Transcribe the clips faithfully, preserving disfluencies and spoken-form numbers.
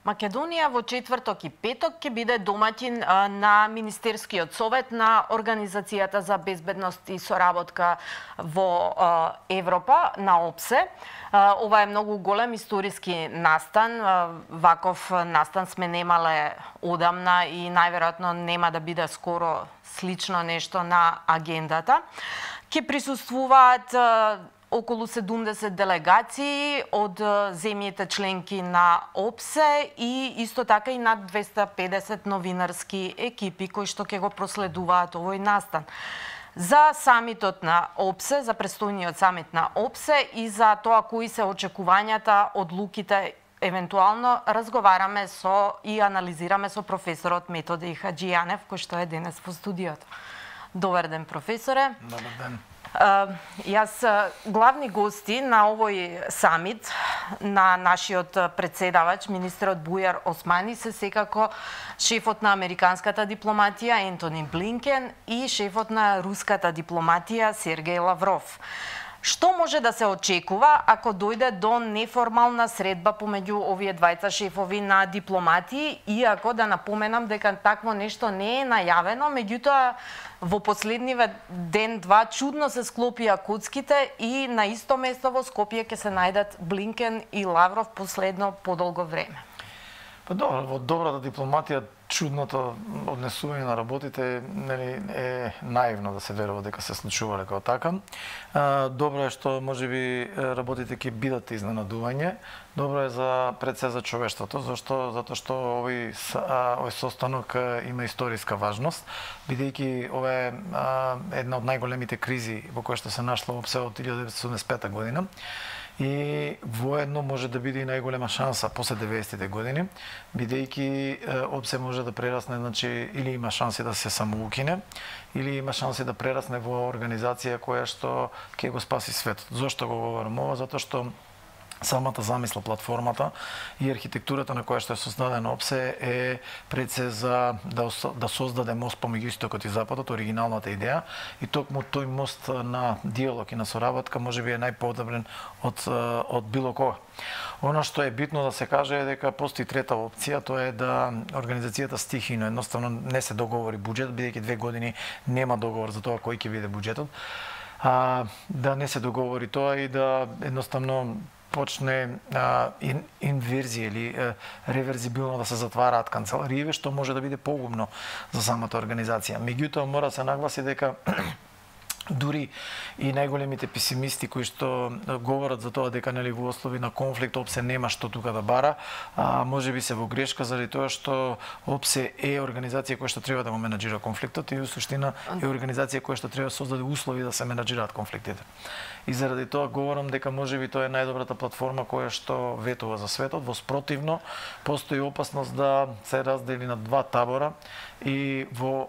Македонија во четврток и петок ќе биде домаќин на Министерскиот совет на Организацијата за безбедност и соработка во Европа, на ОПСЕ. Ова е многу голем историски настан. Ваков настан сме немале одамна и најверојатно нема да биде скоро слично нешто на агендата. Ќе присуствуваат околу седумдесет делегации од земјите членки на ОПСЕ и исто така и над двесте и педесет новинарски екипи кои што ќе го проследуваат овој настан. За самитот на ОПСЕ, за престојниот самит на ОПСЕ и за тоа кои се очекувањата, одлуките, евентуално разговараме со и анализираме со професорот Методи Хаџијанев, кој што е денес во студиото. Добар ден, професоре. Добар ден. Uh, јас главни гости на овој самит на нашиот председавач, министерот Бујар Османи, се секако шефот на американската дипломатија Ентони Блинкен и шефот на руската дипломатија Сергеј Лавров. Што може да се очекува ако дојде до неформална средба помеѓу овие двајца шефови на дипломатии, иако да напоменам дека такво нешто не е најавено, меѓутоа во последниве ден-два чудно се склопија коцките и на исто место во Скопје ќе се најдат Блинкен и Лавров последно подолго време. Па добро, во добрата дипломатија чудното однесување на работите нели е наивно да се верува дека се случувале како така. Добро е што можеби работите ќе бидат изненадување. Добро е за пред се за човештвото, зашто затоа што овој овој состанок има историска важност, бидејќи ова е една од најголемите кризи во која што се нашла ОПСЕ од илјадесетстотини седумдесет и пета година. И воедно може да биде и најголема шанса после деветдесетите години, бидејќи ОПСЕ може да прерасне, значи или има шанси да се самоукине, или има шанси да прерасне во организација која што ќе го спаси светот. Зошто го говорам ова? Затоа што самата замисла, платформата и архитектурата на која што е создадена ОПСЕ е пред се за да, да создаде мост помеѓу истокот и западот, оригиналната идеја, и токму тој мост на диалог и на соработка можеби е најподобрен од од било кога. Она што е битно да се каже е дека постои трета опција, тоа е да организацијата стихино едноставно не се договори буџет, бидејќи две години нема договор за тоа кој ќе биде буџетот, а, да не се договори тоа и да едноставно почне а, ин, инверзија или а, реверзибилно да се затвараат канцелариите, што може да биде погубно за самата организација. Меѓутоа мора да се нагласи дека дури и најголемите песимисти кои што говорат за тоа дека нели во услови на конфликт ОПСЕ нема што тука да бара, а можеби се во грешка заради тоа што ОПСЕ е организација која што треба да го менаџира конфликтот и во суштина е организација која што треба да создаде услови да се менаџираат конфликтите. И заради тоа говорам дека можеби тоа е најдобрата платформа која што ветува за светот. Во спротивно постои опасност да се раздели на два табора и во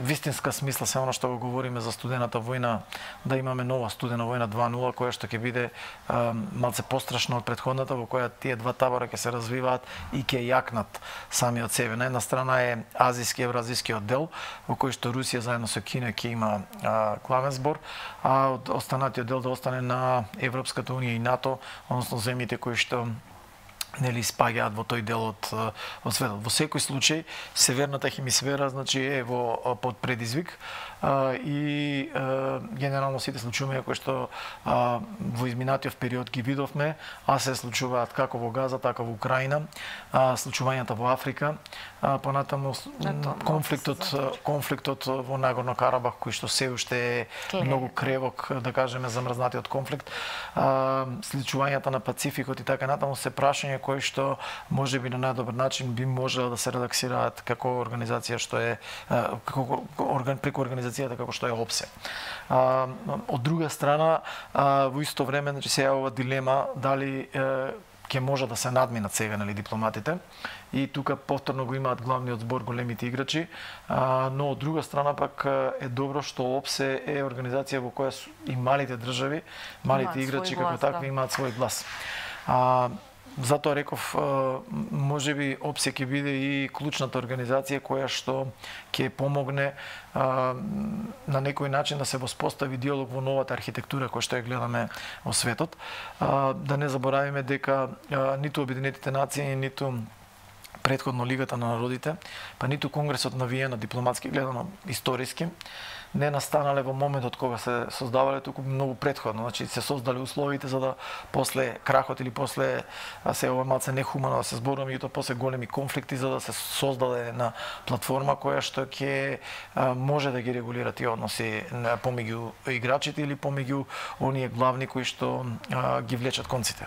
вистинска смисла се она што го говориме за студената војна, да имаме нова студена војна два нула која што ќе биде а, малце пострашна од претходната, во која тие два табора ќе се развиваат и ќе јакнат сами од себе. На една страна е азиски евразискиот дел, во кој што Русија заедно со Кина ќе има а, главен збор, а од останатиот дел да остане на Европската унија и НАТО, односно земјите кои што нели спаѓаат во тој дел од од светот. Во секој случај северната хемисфера значи е во под предизвик а, и а, генерално сите случувања кои што а, во изминатиот период ги видовме, а се случуваат како во Газа, така во Украина, а, случувањата во Африка, а, понатаму конфликтот конфликтот во Нагорно Карабах кој што се уште е многу кревок, да кажеме, замрзнатиот конфликт, а, случувањата на Пацификот и така натаму се прашања кои што можеби на најдобар начин би можело да се редаксираат како организација што е како орган преку организацијата како што е ОПСЕ. А, од друга страна, а, во исто време значи се јавува дилема дали ќе може да се надминат сега нели дипломатите и тука повторно го имаат главниот збор големите играчи, а, но од друга страна пак е добро што ОПСЕ е организација во која и малите држави, малите играчи како такви имаат свој глас. А, Затоа реков, можеби ОПСЕ ќе биде и клучната организација која што ќе помогне а, на некој начин да се воспостави диалог во новата архитектура која што ја гледаме во светот. А, да не заборавиме дека а, ниту Обединетите нации, ниту претходно Лигата на народите, па ниту Конгресот на Виена, дипломатски гледано, историски, не настанале во моментот кога се создавале, туку многу претходно. Значи се создале условите за да после крахот или после се ова малце нехумано да се зборуваме, и тоа после големи конфликти за да се создаде една платформа која што ќе може да ги регулира тие односи помеѓу играчите или помеѓу оние главни кои што а, ги влечат конците.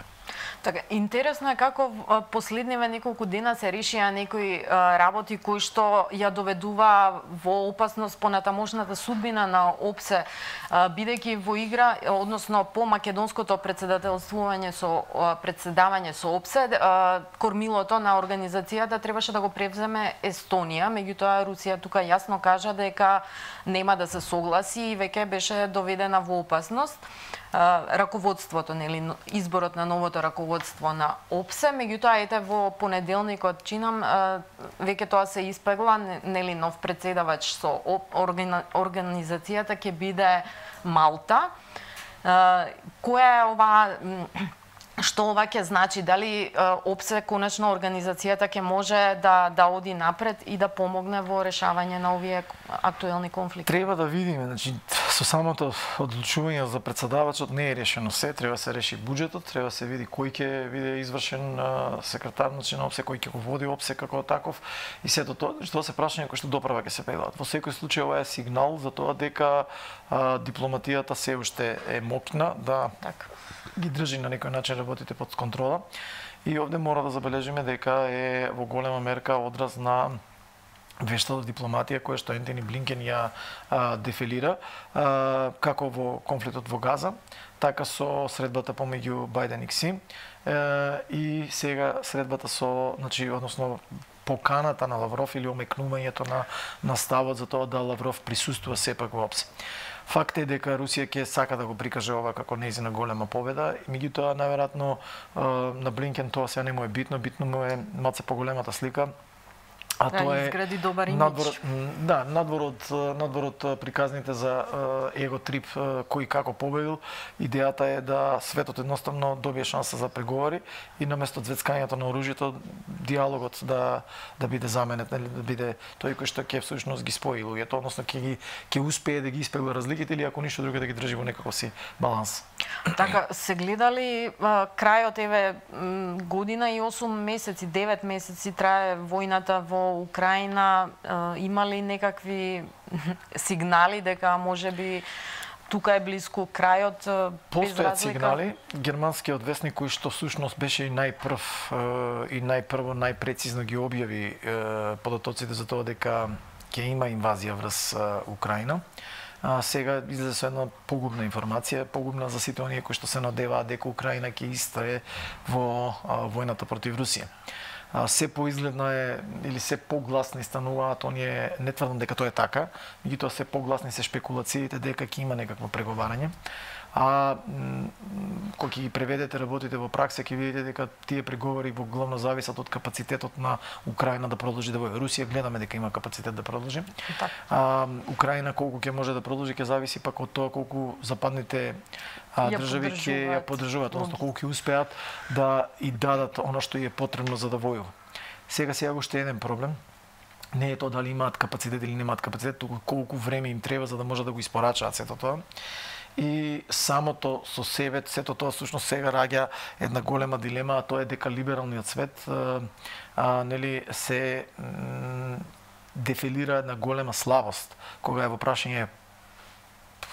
Така, интересно е како последниве неколку дена се решија некои работи кои што ја доведува во опасност понатамошната судбина на ОПСЕ, бидејќи во игра, односно по македонското председателствување со председавање со ОПСЕ, кормилото на организацијата требаше да го превземе Естонија, меѓутоа Русија тука јасно кажа дека нема да се согласи и веќе беше доведена во опасност раководството, нели, изборот на новото раководство на ОПСЕ, меѓутоа ете во понеделникот чинам веќе тоа се испегла, нели, нов претседавач со организацијата ќе биде Малта. Која е ова, што ова ќе значи? Дали ОПСЕ, конечно организацијата, ќе може да да оди напред и да помогне во решавање на овие актуелни конфликти? Треба да видиме, значи со самото одлучување за председавачот не е решено се, треба да се реши буџетот, треба да се види кој ќе биде извршен секретар на ОПСЕ, кој ќе го води ОПСЕ како таков и сето тоа, што се прашање кои што доправа ќе се пеглаат. Во секој случај ова е сигнал за тоа дека а, дипломатијата се уште е моќна да така ги држи на некој начин работите под контрола. И овде мора да забележиме дека е во голема мерка одраз на вештата дипломатија која што Ентони Блинкен ја а, дефилира а, како во конфликтот во Газа, така со средбата помеѓу Бајден и Кси а, и сега средбата со, значи, односно поканата на Лавров или омекнувањето на на ставот за тоа да Лавров присуствува сепак во ОПСЕ. Факт е дека Русија ќе сака да го прикаже ова како нејзина голема победа, меѓутоа наверојатно на Блинкен тоа сега не му е битно, битно му е малце поголемата слика. А да, тоа е изгради добар имидж. Надвор, да, надвор од надвор од приказните за его трип кој како победил, идејата е да светот едноставно добие шанса за преговори и наместо звецкањето на оружјето, диалогот да да биде заменет, нели, да биде тој кој што ќе всушност ги спои луѓето, односно ќе ги ќе успее да ги испегла разликите или ако ништо друго да ги држи во некаков си баланс. Така, се гледали а, крајот еве година и осум месеци, девет месеци трае војната во Украина, а, има ли некакви сигнали дека можеби тука е близко крајот? Постојат сигнали. Германскиот весник кој што всушност беше и најпрв и најпрво најпрецизно ги објави податоците за тоа дека ќе има инвазија врз Украина. А, сега излезе со една погубна информација, погубна за сите оние кои што се надеваат дека Украина ќе истрае во а, војната против Русија. А, се поизгледно е или се погласни стануваат оние, не тврдам дека тоа е така, меѓутоа се погласни се шпекулациите дека ќе има некакво преговарање. А кога ќе ги преведете работите во пракса, ќе видите дека тие преговори во главно зависат од капацитетот на Украина да продолжи да војува. Русија гледаме дека има капацитет да продолжи. А, Украина колку ќе може да продолжи ќе зависи пак од тоа колку западните а, држави ќе ја поддржуваат, односно колку ќе успеат да и дадат она што е потребно за да војува. Сега сега уште еден проблем. Не е тоа дали имаат капацитет или немаат капацитет, туку колку време им треба за да може да го испорачаат сето тоа. И самото со себе, сето тоа всушност сега раѓа една голема дилема, а тоа е дека либералниот свет а, а, нели се м, дефилира една голема слабост кога е во прашање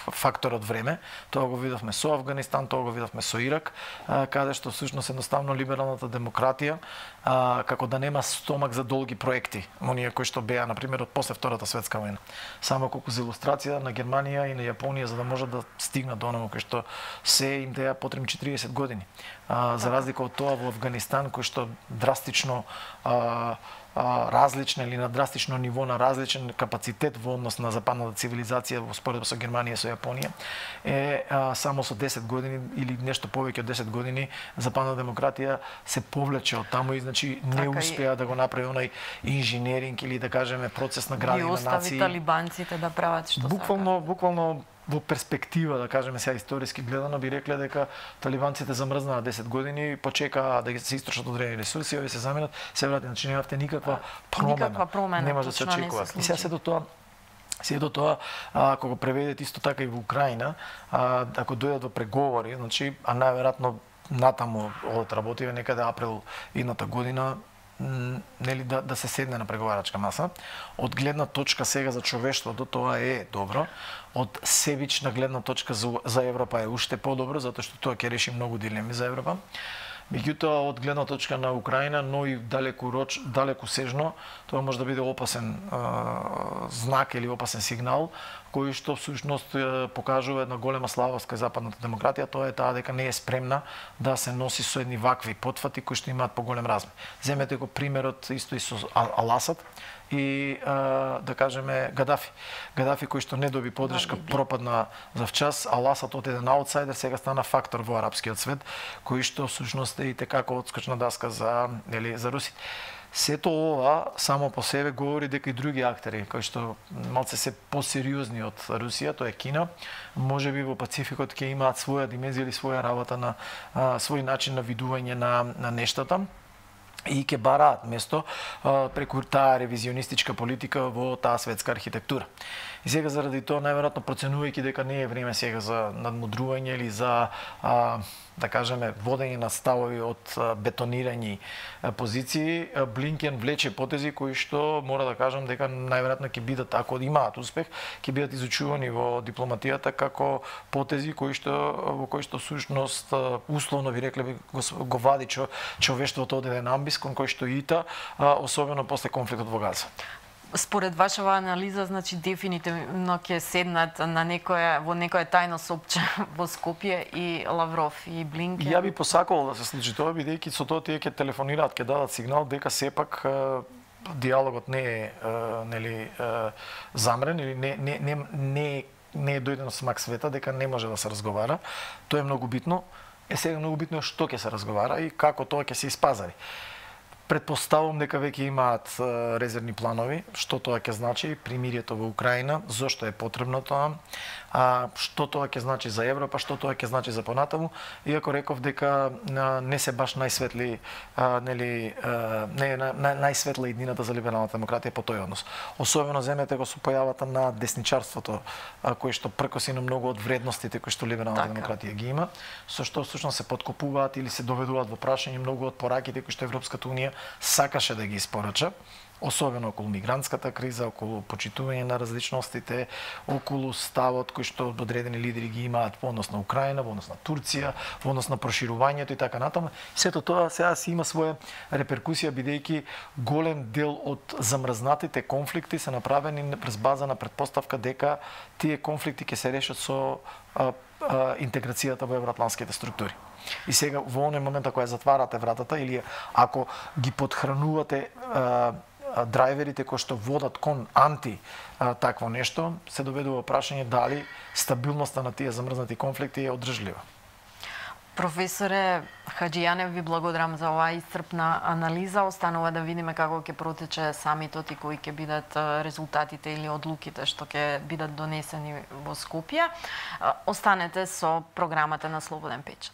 факторот време. Тоа го видовме со Афганистан, тоа го видовме со Ирак, а, каде што всушност едноставно либералната демократија а, како да нема стомак за долги проекти, оние кои што беа на пример од после Втората светска војна. Само колку за илустрација на Германија и на Јапонија за да можат да стигнат до оној кој што се им деа потребни четириесет години. А, за разлика од тоа во Афганистан кој што драстично а, различна или на драстично ниво на различен капацитет во однос на западната цивилизација во споредба со Германија и со Јапонија е а, само со десет години или нешто повеќе од десет години западна демократија се повлече од таму и значи не така успеа и да го направи онај инженеринг или да кажеме процес на градење на нации. И остави талибанците да прават што буквално, сака. Буквално во перспектива, да кажеме сега историски гледано, би рекле дека талибанците замрзнаа десет години, почекаа да се истрошат одредени ресурси, овие се заменат, се врати, значи немавте никаква промена. Никаква промена, не може да се очекува. И сега се до тоа Се до тоа, ако го преведете исто така и во Украина, а, ако дојдат во преговори, значи, а најверојатно натаму од работиве некаде април едната година, нели да, да се седне на преговарачка маса. Од гледна точка сега за човештвото тоа е добро. Од себична гледна точка за, за Европа е уште подобро, затоа што тоа ќе реши многу дилеми за Европа. Меѓутоа, од гледна точка на Украина, но и далеку роч, далеку сежно, тоа може да биде опасен е, знак или опасен сигнал, кој што всушност е, покажува една голема слабост кај западната демократија, тоа е таа дека не е спремна да се носи со едни вакви потфати кои што имаат поголем размер. Земете го примерот исто и со Ал-Асад и а, да кажеме Гадафи. Гадафи кој што не доби поддршка, пропадна завчас, Ал-Асад од еден аутсайдер сега стана фактор во арапскиот свет, кој што всушност е и tekako одскочна даска за нели за русите. Сето ова само по себе говори дека и други актери кои што малце се посериозни од Русија, тоа е Кина, можеби во Пацификот ќе имаат своја димензија или своја работа на а, свој начин на видување на на нештата и ќе бараат место а, преку таа ревизионистичка политика во таа светска архитектура. И сега заради тоа најверојатно проценувајќи дека не е време сега за надмудрување или за а, да кажеме водење на ставови од бетонирани позиции, Блинкен влече потези кои што мора да кажам дека најверојатно ќе бидат, ако имаат успех, ќе бидат изучувани во дипломатијата како потези кои што во кои што сушност условно ви рекле го, го вади чо, човештвото од еден амбис кон кој што ита, особено после конфликтот во Газа. Според вашава анализа, значи дефинитивно ќе седнат на некое во некое тајно сопче во Скопје и Лавров и Блинкен. Ја би посакувал да се случи тоа, бидејќи со тоа тие ќе телефонираат, ќе дадат сигнал дека сепак диалогот не е нели замрен или не не не не не е дојдено смак света, дека не може да се разговара. Тоа е многу битно. Е сега многу битно е што ќе се разговара и како тоа ќе се испазари. Предпоставувам дека веќе имаат резервни планови, што тоа ќе значи примирието во Украина, зошто е потребно тоа, а што тоа ќе значи за Европа, што тоа ќе значи за понатаму, иако реков дека не се баш најсветли, а, нели, а, не е најсветла иднината за либералната демократија по тој однос. Особено земете го со појавата на десничарството, а, кој што пркоси на многу од вредностите кои што либералната така. демократија ги има, со што всушност се подкопуваат или се доведуваат во прашање многу од пораките кои што Европската унија сакаше да ги испорача, особено околу мигрантската криза, околу почитување на различностите, околу ставот кој што одредени лидери ги имаат во однос на Украина, во однос на Турција, во однос на проширувањето и така натаму. Сето тоа сега си има своја реперкусија, бидејќи голем дел од замрзнатите конфликти се направени през база на предпоставка дека тие конфликти ќе се решат со а, а, интеграцијата во евроатлантските структури. И сега во оној момент ако ја затварате вратата или ако ги подхранувате а, драйверите кои што водат кон анти а, такво нешто, се доведува прашање дали стабилноста на тие замрзнати конфликти е одржлива. Професоре Хаџијанев, ви благодарам за оваа исцрпна анализа. Останува да видиме како ќе протече самитот и кои ќе бидат резултатите или одлуките што ќе бидат донесени во Скопје. Останете со програмата на Слободен печат.